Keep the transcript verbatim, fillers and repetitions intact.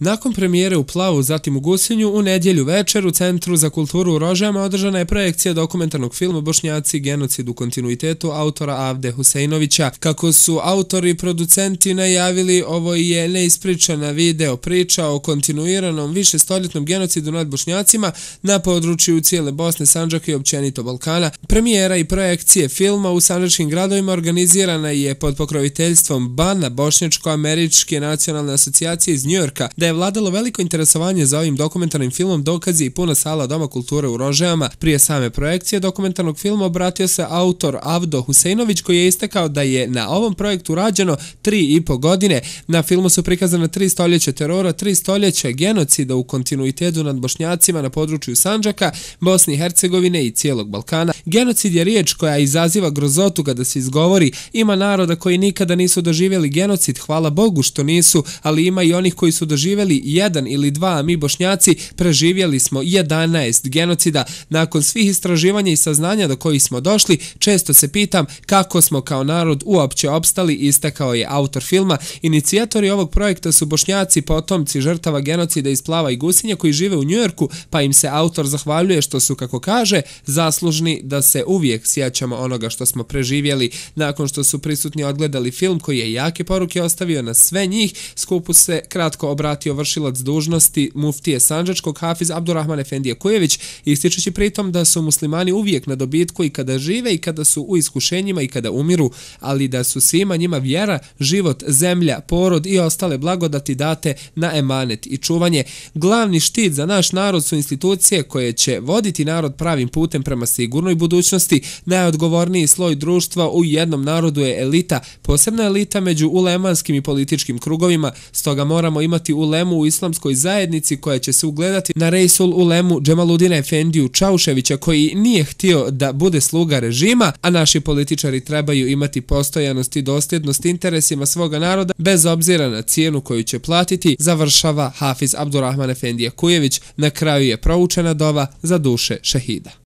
Nakon premijere u Plavu, zatim u Gusinju, u nedjelju večer u Centru za kulturu u Rožajama održana je projekcija dokumentarnog filma Bošnjaci, genocid u kontinuitetu autora Avde Huseinovića. Kako su autori i producenti najavili, ovo je neispričana video priča o kontinuiranom višestoljetnom genocidu nad Bošnjacima na području cijele Bosne, Sandžaka i općenito Balkana. Premijera i projekcije filma u sandžačkim gradovima organizirana je pod pokroviteljstvom B A N-a, Bošnjačko-američke nacionalne asocijacije iz Njujorka. Da je vladalo veliko interesovanje za ovim dokumentarnim filmom dokazi i puna sala Doma kulture u Rožajama. Prije same projekcije dokumentarnog filma obratio se autor Avdo Huseinović, koji je istakao da je na ovom projektu rađeno tri i po godine. Na filmu su prikazane tri stoljeća terora, tri stoljeća genocida u kontinuitetu nad Bošnjacima na području Sandžaka, Bosne i Hercegovine i cijelog Balkana. Genocid je riječ koja izaziva grozotu kada se izgovori. Ima naroda koji nikada nisu doživjeli genocid, hvala Bogu što nisu, ali ima i onih koji su doživjeli jedan ili dva, a mi Bošnjaci preživjeli smo jedanaest genocida. Nakon svih istraživanja i saznanja do kojih smo došli, često se pitam kako smo kao narod uopće opstali, istakao je autor filma. Inicijatori ovog projekta su Bošnjaci, potomci žrtava genocida iz Plava i Gusinja koji žive u Njujorku, pa im se autor zahvaljuje što su, kako kaže, zaslužni da se uvijek sjećamo onoga što smo preživjeli. Nakon što su prisutni odgledali film koji je jake poruke ostavio na sve njih, skupu se kratko obratio vršilac dužnosti muftije sandžačkog Hafiz Abdurrahman Efendija Kujević, ističući pritom da su muslimani uvijek na dobitku i kada žive i kada su u iskušenjima i kada umiru, ali da su svima njima vjera, život, zemlja, porod i ostale blagodati date na emanet i čuvanje. Glavni štit za naš narod su institucije koje će voditi narod pravim putem prema sigurnoj budućnosti. Najodgovorniji sloj društva u jednom narodu je elita, posebna elita među ulemanskim i političkim krugovima, stoga moramo imati ulemu u islamskoj zajednici koja će se ugledati na Reisul ulemu Džemaludina Efendiju Čauševića, koji nije htio da bude sluga režima, a naši političari trebaju imati postojanost i dosljednost interesima svoga naroda bez obzira na cijenu koju će platiti, završava Hafiz Abdurrahman Efendija Kujević. Na kraju je proučena dova za duše šehida.